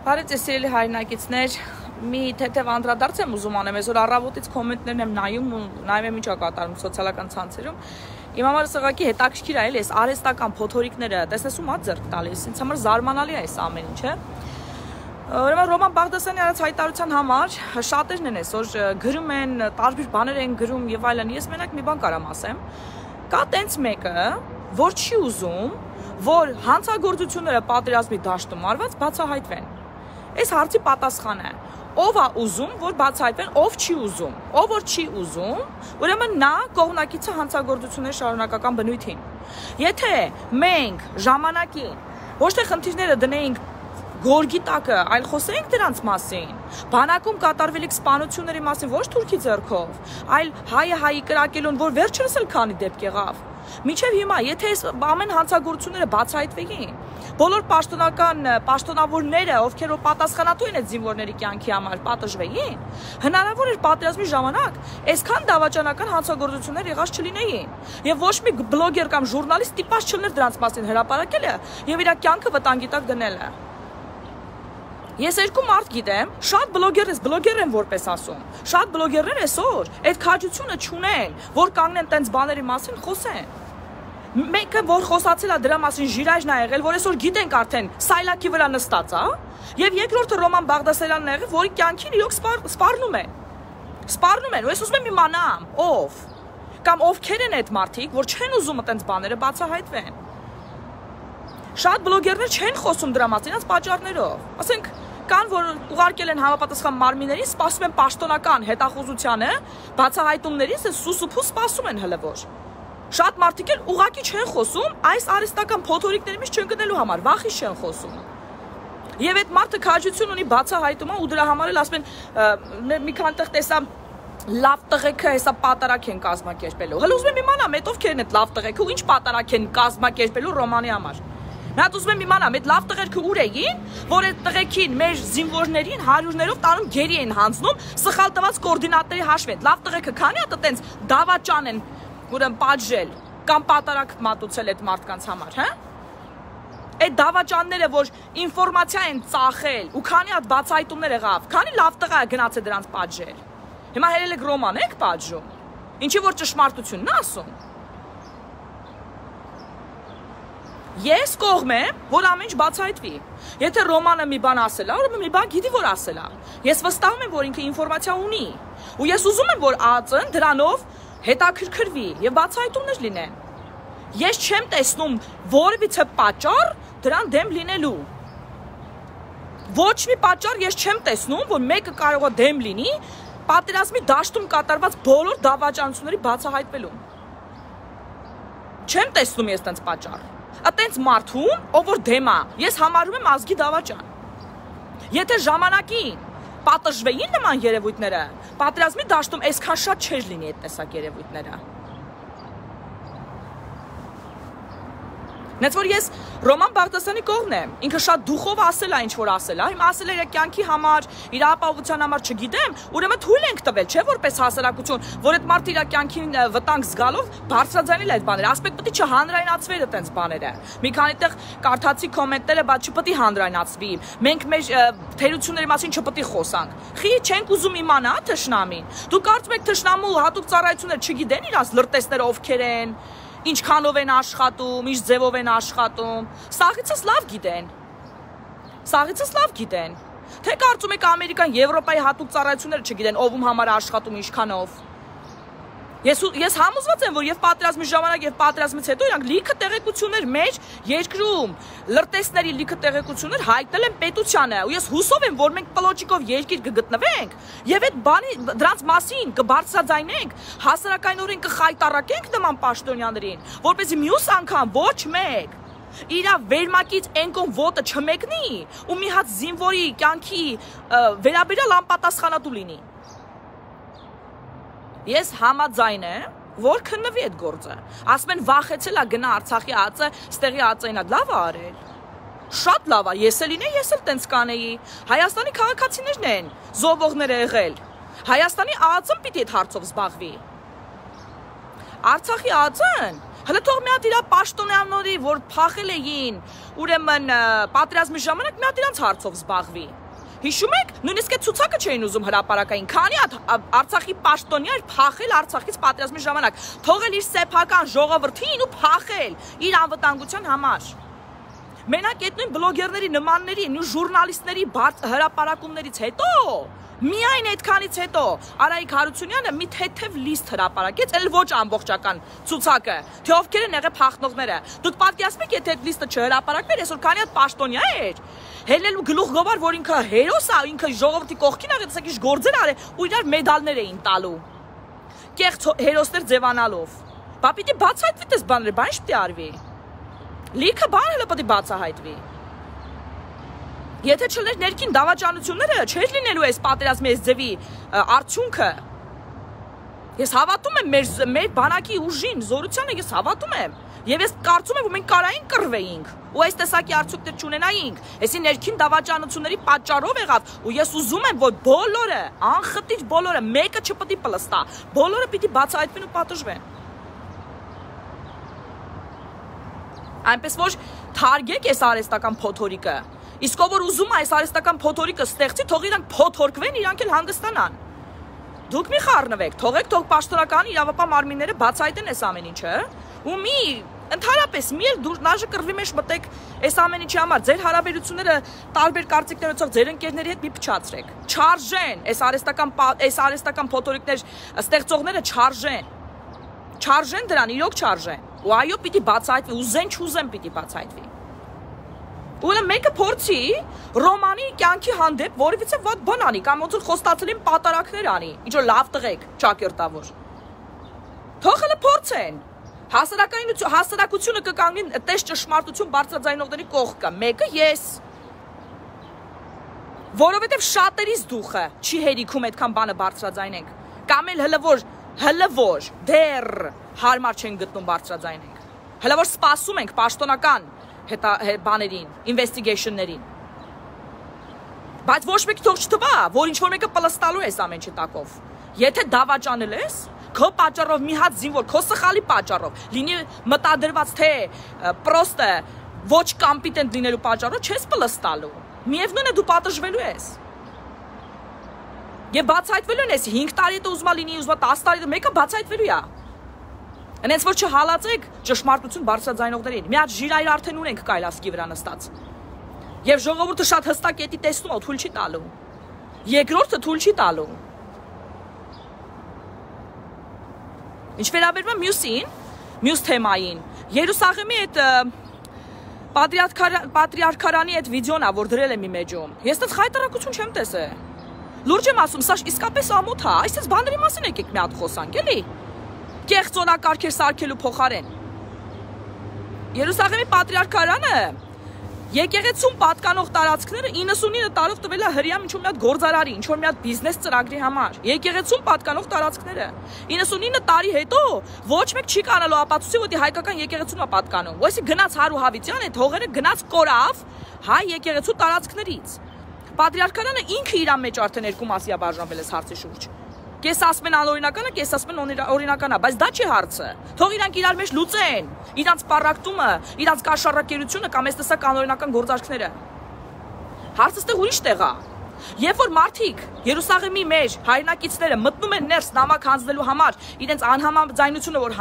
Բարև ձեզ սիրելի հայրենակիցներ, մի թեթև անդրադարձ եմ ուզում անեմ, այսօր առավոտից կոմենտներն եմ նայում ու նայում եմ ինչ է կատարում սոցիալական ցանցերում։ Իմ համար սղակի հետաքրքիր է, այս արհեստական փոթորիկները, տեսնես ում է ձեռք տալիս, ինձ համար զարմանալի է այս ամեն ինչը։ Ուրեմն Ռոման Բաղդասարյանի արած հայտարարության համար շատերն են այսօր գրում են, տարբեր բաներ են գրում եւ այլն։ Ես մենակ մի բան կարամ ասեմ։ Կա տենց մեկը, որ չի ուզում, որ հանցագործությունները պատերազմի դաշտում արված բացահայտվեն։ Այս հարցի պատասխանը է. ով է ուզում, որ բացահայտվեն, ով չի ուզում։ Ով որ չի ուզում, ուրեմն նա կողմնակից է հանցագործությունների շարունակական բնույթին։ Եթե մենք ժամանակին ոչ թե խնդիրները դնեինք գորգի տակը, այլ խոսեինք դրանց մասին, բանակում կատարվելիք սպանությունների մասին ոչ թուրքի ձեռքով, այլ հայը հայի կրակելուն, որ վերջերս էլ քանի դեպք եղավ։ Մինչև հիմա, եթե այս ամեն հանցագործությունները բացահայտվեին, բոլոր պաշտոնավորները, ովքեր որ պատասխանատու են այդ զինվորների կյանքի համար, պատժվեին, հնարավոր էր պատերազմի ժամանակ այսքան դավաճանական հանցագործություններ եղած չլինեին, եւ ոչ մի բլոգեր կամ ժուրնալիստ տիպած չլներ դրանց մասին հրապարակելը եւ իր կյանքը վտանգի տակ դնելը։ Ես երկու մարդ գիտեմ, շատ բլոգեր են որպես ասում, շատ բլոգերներ այսօր այդ քաջությունը չունեն, որ կանգնեն տենց բաների մասին խոսեն։ Մեկը որ խոսացել է դրա մասին ժիրաժն է եղել, որ այսօր գիտենք արդեն սայլակի վրա նստած է, եւ երկրորդը Ռոման Բաղդասարյանն է եղել, որի կյանքին իրոք սպառնում են։ Ու ես ուզում եմ իմանամ, ով կամ ովքեր են այդ մարդիկ, որ չեն ուզում այդպես բաները բացահայտվեն։ Շատ բլոգերներ չեն խոսում դրա մասին, իրենց պատճառներով։ Ասենք կան, որ ուղարկել են համապատասխան մարմիններին, սպասում են պաշտոնական հետախուզությանը, բացահայտումներից սուսուփու սպասում են հələ որ։ Շատ մարդիկ էլ ուղակի չեն խոսում այս արհեստական փոթորիկների մեջ չընկնելու համար, վախից չեն խոսում։ Եվ այդ մարդը քաջություն ունի բացահայտումը ու դրա համար էլ ասում են մի քանի տեղ տեսա լավ տղեկը հեսա պատարակ են կազմակերպելու։ Հələ ուզում եմ իմանամ, այդ ովքեր են այդ լավ տղեկը ու ինչ պատարակ են կազմակերպելու Ռոմանի համար։ Նա ուզում եմ իմանամ, այդ լավ տղերքը ուր էին, որ այդ տղեկին մեր զինվորներին հարյուրներով տանում գերի են հանձնում, սխալ տված կոորդինատների հաշվին։ Լավ տղերքը քանի հատ այտենց դավաճան են ուրեմն պատժել կամ պատարակ մատուցել այդ մարդկանց համար, հա։ Այդ դավաճանները, որ ինֆորմացիա են ծախել ու քանի հատ բացահայտումներ եղավ, քանի լավ տղա է գնացել դրանց պատժել։ Հիմա հերել եք Ռոման եք պատժում։ Ինչի որ ճշմարտությունն է ասում։ Ես կողմ եմ, որ ամեն ինչ բացահայտվի։ Եթե Ռոմանը մի բան ասել է, ուրեմն մի բան գիտի որ ասել է։ Ես վստահում եմ, որ ինքը ինֆորմացիա ունի։ Ու ես ուզում եմ, որ ԱԱԾ-ն դրանով հետաքրքրվի եւ բացահայտումներ լինեն։ Ես չեմ տեսնում որևիցե պատճառ դրան դեմ լինելու։ Ոչ մի պատճառ ես չեմ տեսնում, որ մեկը կարող է դեմ լինի պատերազմի դաշտում կատարված բոլոր դավաճանությունների բացահայտվելուն։ Չեմ տեսնում ես տենց պատճառ։ Այտենց մարդուն, ով որ դեմ է, ես համարում եմ ազգի դավաճան։ Եթե ժամանակին պատժվեին նման երևույթները, պատերազմի դաշտում այսքան շատ չէր լինի այդ տեսակ երևույթները։ Նենց որ ես Ռոման Բաղդասարյանի կողմն եմ, ինքը շատ դուխով ասել է ինչ որ ասել է, հիմա ասել է իր կյանքի համար, իր ապահովության համար չգիտեմ, ուրեմն թույլ ենք տվել, չէ՞ որպես հասարակություն, որ այդ մարդը իր կյանքին վտանգ զգալով բարձրաձայնել այդ բաները, ասպետ պետք է չհանրայնացվեր այդպես բաները։ Մի քանի տեղ կարդացի կոմենտները, բայց չպետք է հանրայնացվի։ Մենք մեր թերությունների մասին չպետք է խոսանք։ Խի չենք ուզում իմանա թշնամին։ Դու կարծում եք թշնամու հատուկ ծառայություններ չգիտեն իրաց լրտեսները ովքեր են։ Ինչքանով են աշխատում, ինչ ձևով են աշխատում, սաղիցս լավ գիտեն, թե կարծում եք Ամերիկան, Եվրոպայի հատուկ ծառայությունները չգիտեն, ով համար աշխատում, ինչքանով։ Ես համոզված եմ, որ եւ պատերազմի ժամանակ եւ պատերազմից հետո իրանք լիքը տեղեկություններ մեր երկրում, լրտեսների լիքը տեղեկություններ հայտնել են պետությանը, ու ես հուսով եմ, որ մենք պլոճիկով երկիր կգտնվենք եւ այդ բանի դրանց մասին կբարձրաձայնենք, հասարակայնորեն կխայտարակենք նման պաշտոնյաներին, որպեսզի մյուս անգամ ոչ մեկ իրա վերմակից ենկոն ոտը չմեկնի ու մի հատ զինվորի կյանքի վերաբերյալ անպատասխանատու լինի։ Ես համաձայն եմ, որ քննվի այդ գործը։ Ասում են վախեցել է գնա Արցախի ԱԱԾ, ստեղի ԱԱԾ-ին լավ է արել։ Շատ լավ է, ես էլ լինեի, ես էլ տենց կանեի։ Հայաստանի քաղաքացիներն են զոհվողները եղել։ Հայաստանի ԱԱԾ-ն պիտի այդ հարցով զբաղվի։ Արցախի ԱԱԾ-ն Հələ թող մի հատ իրա պաշտոնյաների, որ փախել էին, ուրեմն պատերազմի ժամանակ մի հատ իրանց հարցով զբաղվի։ Հիշում եք, նույնիսկ այդ ցուցակը չէին ուզում հրապարակային, քանի հատ Արցախի պաշտոնյա էր փախել Արցախից պատերազմի ժամանակ, թողել իր սեփական ժողովրդին ու փախել իր անվտանգության համար։ Մենակ այդ նույն բլոգերների նմանների, նույն ժուրնալիստների հրապարակումներից հետո, միայն այդքանից հետո Արայիկ Հարությունյանը մի թեթև լիստ հրապարակեց, էլ ոչ ամբողջական ցուցակը, թե ովքեր են եղել փախնողները։ Դուք պատկերացնում եք, եթե այդ լիստը չհրապարակվեր, այսօր քանի հատ պաշտոնյա էր, հելելու գլուխ գովար, որ ինքը հերոս է, ինքը ժողովրդի կողքին ա, տեսեք ինչ գործեր արել ու իրար մեդալներ էին տալու։ Կեղծ հերոսներ ձևանալով։ Բա պիտի բացահայտվի դες բաները, բան ինչ պիտի արվի։ Լիքը բան էլ պետք է բացահայտվի։ Եթե չլներ ներքին դավաճանությունները, չէր լինելու այս պատերազմի այս ձևի արդյունքը։ Ես հավատում եմ մեր բանակի ուժին, զորությանը ես հավատում եմ։ Եվ ես կարծում եմ, որ մենք կարային կռվեինք ու այս տեսակի արդյունքներ չունենայինք։ Այսի ներքին դավաճանությունների պատճառով եղավ ու ես ուզում եմ, որ բոլորը, անխտիր բոլորը, մեկը չպետք է պլստա, բոլորը պիտի բացահայտվեն ու պատժվեն։ Այնպես որ թարգեք այս արհեստական փոթորիկը։ Իսկ ով որ ուզում է այս արհեստական փոթորիկը ստեղծի, թող իրանք փոթորկվեն, իրանք էլ հանգստանան։ Դուք մի խառնվեք, թող պաշտոնական իրավապահ մարմինները բացահայտեն այս ամեն ինչը, ու մի ընդհանրապես մի էլ դուր նաժը կռվի մեջ մտեք այս ամեն ինչի համար, ձեր հարաբերությունները տարբեր կարծիքներով ձեր ընկերների հետ մի փչացրեք։ Չարժեն, այս արհեստական փոթորիկներ ստեղծողները չարժեն դրան, իրոք չարժեն։ Ու այո, պիտի բացահայտվի, ուզեն չուզեն պիտի բացահայտվի։ Ուրեմն մեկը փորձի Ռոմանի կյանքի հանդեպ որևիցե վատ բան անի, կամ ոնց որ խոստացել են պատարակներ անի, ինչ որ լավ տղեկ, ճակերտավոր։ Թող հələ փորձեն։ Հասարակությունը կկանգնի տես ճշմարտություն բարձրաձայնողների կողքը, մեկը ես։ Որովհետև շատերից դուխը չի հերիքում այդքան բանը բարձրաձայնենք, կամ էլ հələ որ դեռ հարմար չեն գտնում բարձրաձայնենք։ Հələ որ սպասում ենք պաշտոնական բաներին, investigation-ներին։ Բայց ոչ մեկի թող չթվա, որ ինչ-որ մեկը պլստալու է այս ամեն ինչի տակով։ Եթե դավաճանել ես, քո պատճառով մի հատ զինվոր, քո սխալի պատճառով, լինի մտադրված թե պրոստը ոչ կոմպետենտ լինելու պատճառով չես պլստալու։ Միևնույն է դու պատժվելու ես։ Եվ բացահայտվելու ես 5 տարի հետո ուզում լինի, ուզում 10 տարի հետո մեկը բացահայտվելու է։ Այնպես որ չհալածեք ճշմարտություն բարձրաձայնողներին։ Մի հատ ժիրայր արդեն ունենք կայլասկի վրա նստած։ Եվ ժողովուրդը շատ հստակ էտի տեսնում է, թույլ չի տալու։ Երկրորդը թույլ չի տալու։ Ինչ վերաբերում է մյուսին, մյուս թեմային, Երուսաղեմի այդ պատրիարքարանի այդ վիդեոն է, որ դրել եմ իմ էջում։ Ես դեռ խայտարակություն չեմ տեսել։ Լուրջ եմ ասում, սա իսկապես ամոթ է, այսպես բաների մասին եկեք մի հատ խոսանք, էլի։ Կեղծոնակարգեր սարքելու փոխարեն։ Երուսաղեմի պատրիարքարանը եկեղեցուն պատկանող տարածքները 99 տարով տվել է հրյա ինչ-որ մի հատ գործարարի, ինչ-որ մի հատ բիզնես ծրագրի համար։ Եկեղեցուն պատկանող տարածքները 99 տարի հետո ոչ մեկ չի կանալու ապացուցի, որ հայկական եկեղեցուն է պատկանում։ Ոյսի գնաց Հարու Հավիտյան այդ հողերը գնաց կորավ հայ եկեղեցու տարածքներից։ Պատրիարքարանը ինքը իր մեջ արդեն երկու մասի է բաժանվել այս հարցի շուրջ։ Կես ասում են անօրինականը, կես ասում են օրինականա, բայց դա չի հարցը։ Թող իրանք իրար մեջ լուծեն, իրանց պարակտումը, իրանց կաշառակերությունը կամ այս տեսակ անօրինական գործարքները։ Հարցը ստեղ ուրիշ տեղ է։ Երբ որ մարդիկ Երուսաղեմի մեջ հայրենակիցները մտնում են ներս նամակ հանձնելու համար, իրենց անհամաձայնությունը որ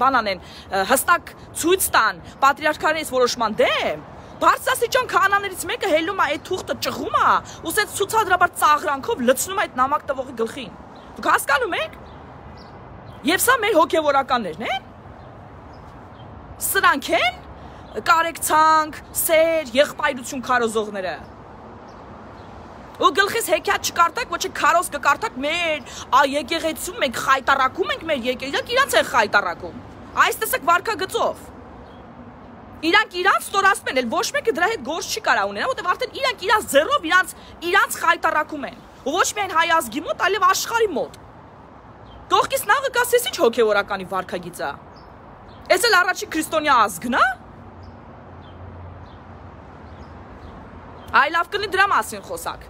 բան անեն, հստակ ցույց տան պատրիարքարից որոշման դեմ, բարձրաստիճան քահանաներից մեկը հելում է այդ թուղթը ճղում է, ու ասած ցուցադրաբար ծաղրանքով լցնում է այդ նամակ տվողի գլխին։ Դուք հասկանում եք։ Եվ սա մեր հոգևորականներն են։ Սրանք են կարեկցանք, սեր, եղբայրություն քարոզողները։ Ու գլխից հեքիաթ չկարտակ, ոչ քարոզ կկարտակ մեր եկեղեցում մենք խայտարակում ենք մեր եկեղեցին, իրանց են խայտարակում։ Այս տեսակ վարքագծով։ Իրանք իրանց ստորացնում են, ոչ մեկը դրա հետ գործ չի կարա ունենա, որտեղ արդեն իրանք իրանց ձեռով իրանց խայտարակում են։ Ու ոչ միայն հայ ազգի մոտ, այլև աշխարհի մոտ։ Կողքից նավը կասես ինչ հոգևորականի վարքագիծ է։ Էս էլ առաջի քրիստոնյա ազգն է։ Այ լավ կլինի դրա մասին խոսակ։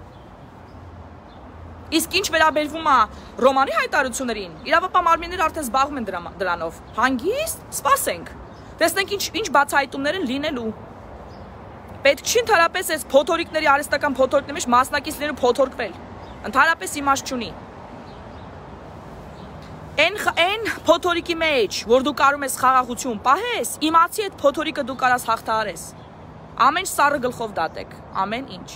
Իսկ ինչ վերաբերվում է Ռոմանի հայտարարություններին, իրավապահ մարմինները արդեն զբաղվում են դրանով։ Հանգիստ, սպասենք։ Տեսնենք ինչ բացահայտումներ են լինելու։ Պետք չի ընդհանրապես այս փոթորիկների արհեստական փոթորիկների մեջ մասնակիցները փոթորկվել։ Ընդհանրապես իմաստ չունի։ Այն փոթորիկի մեջ, որ դու կարում ես խաղաղություն պահես, իմացի այդ փոթորիկը դու կարաս հաղթահարես։ Ամեն սառը գլխով դատեք, ամեն ինչ։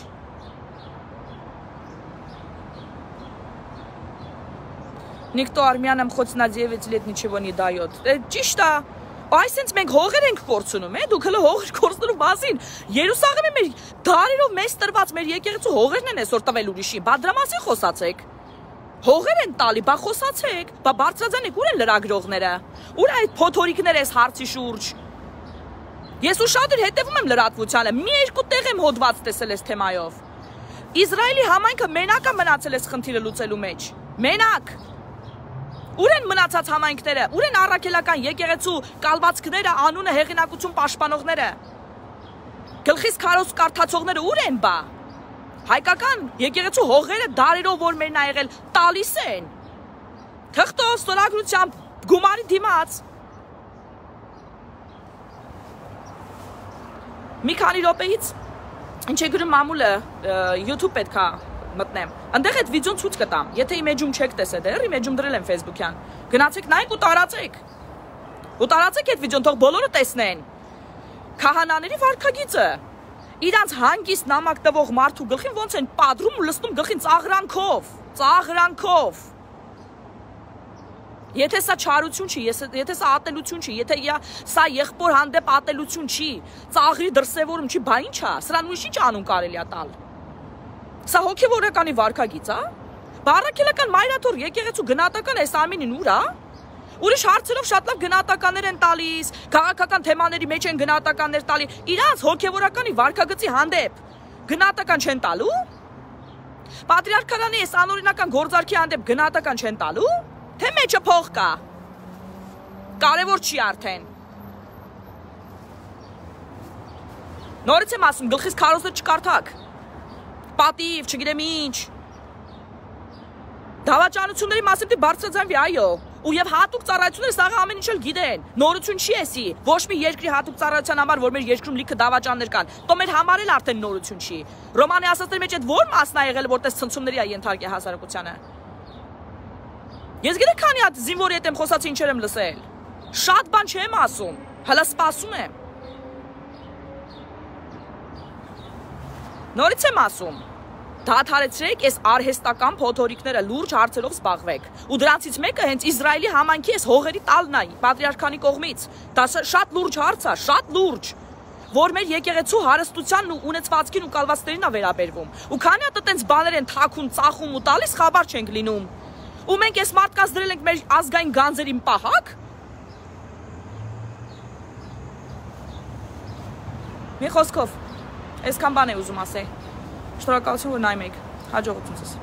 Никто армянам хоть на 9 лет ничего не дает. Ճիշտ է։ Այսինքն մենք հողեր ենք կորցնում, դուք հələ հողեր կորցնելու մասին։ Երուսաղեմի մեր դարերով մեծ տրված մեր եկեղեցու հողերն են այսօր տվել ուրիշի։ Բա դրա մասին խոսացեք։ Հողեր են տալի, բա խոսացեք։ Բա բարձրաձանեք, ուր են լրագրողները։ Ուր այդ փոթորիկները այս հարցի շուրջ։ Ես ուշադիր հետևում եմ լրատվությանը, մի երկու տեղ եմ հոդված տեսել այս թեմայով։ Իսրայելի համայնքը մենակ է մնացել այս խնդիրը լուծելու մեջ։ Մենակ։ Ուր են մնացած համայնքները, ուր են առաքելական եկեղեցու կալվածքները, անունը հեղինակություն պաշտպանողները, գլխից քարոզ կարդացողները ուր են բա։ Հայկական եկեղեցու հողերը դարերով որ մերն ա եղել տալիս են։ Թղթով, ստորագրությամբ, գումարի դիմաց։ Մի քանի րոպեից ինչ է գրում մամուլը YouTube պետք է մտնեմ։ Այնտեղ այդ վիդեոն ցույց կտամ։ Եթե իմեջում չեք տեսել, դեռ իմեջում դրել եմ Facebook-յան։ Գնացեք նայեք ու տարածեք։ Ու տարածեք այդ վիդեոն, թող բոլորը տեսնեն։ Քահանաների վարքագիծը իրանց հանգիստ նամակ տվող մարդու գլխին ոնց են պատրում ու լցնում գլխին ծաղրանքով, ծաղրանքով։ Եթե սա չարություն չի, եթե սա ատելություն չի, եթե սա եղբոր հանդեպ ատելություն չի, ծաղրի դրսևորում չի, բա ի՞նչ է։ Սրան ուրիշ ինչ անուն կարելի է տալ։ Սա հոգևորականի վարքագիծ է։ Բառակելական մայրաթոր եկեղեցու գնահատական այս ամենին ուր է։ Ուրիշ հարցերով շատ լավ գնահատականներ են տալիս, քաղաքական թեմաների մեջ են գնահատականներ տալի, իրանց հոգևորականի վարքագծի հանդեպ գնահատական չեն տալու։ Պատրիարքարանի այս անօրինական գործարքի հանդեպ գնահատական չեն տալու, թե մեջը փող կա։ Կարևոր չի արդեն։ Նորից եմ ասում, գլխից քարոզը չկարդաք։ Պատիվ, չգիտեմ ինչ։ Դավաճանությունների մասին դի բարձրաձայնվի, այո։ Ու եւ հատուկ ծառայությունները սա ամեն ինչ էլ գիտեն։ Նորություն չի էսի։ Ոչ մի երկրի հատուկ ծառայության համար, որ մեր երկրում լիքը դավաճաններ կան։ Տո մեր համար էլ արդեն նորություն չի։ Ռոմանի ասածների մեջ այդ ո՞ր մասն է եղել, որտես ցնցումների է ենթարկել հասարակությանը։ Ես գիտեք քանի հատ զինվորի հետ եմ խոսած ինչեր եմ լսել։ Շատ բան չեմ ասում, հələ սպասում եմ։ Նորից եմ ասում, դադարեցրեք այս արհեստական փոթորիկները լուրջ հարցերով զբաղվեք։ Ու դրանցից մեկը հենց Իսրայելի համայնքի այս հողերի տալն է պատրիարքանի կողմից։ Դա շատ լուրջ հարց է, շատ լուրջ, որ մեր եկեղեցու հարստությանն ու ունեցվածքին ու կալվածքներին է վերաբերվում։ Ու քանի հատ այտենց բաներ են թաքուն, ծախում ու տալիս, խաբար չենք լինում։ Ու մենք այս մարդկանց դրել ենք մեր ազգային գանձերին պահակ։ Մի խոսքով, այսքան բան է ուզում ասել։ Շնորհակալություն, որ նայում եք։ Հաջողություն ձեզ։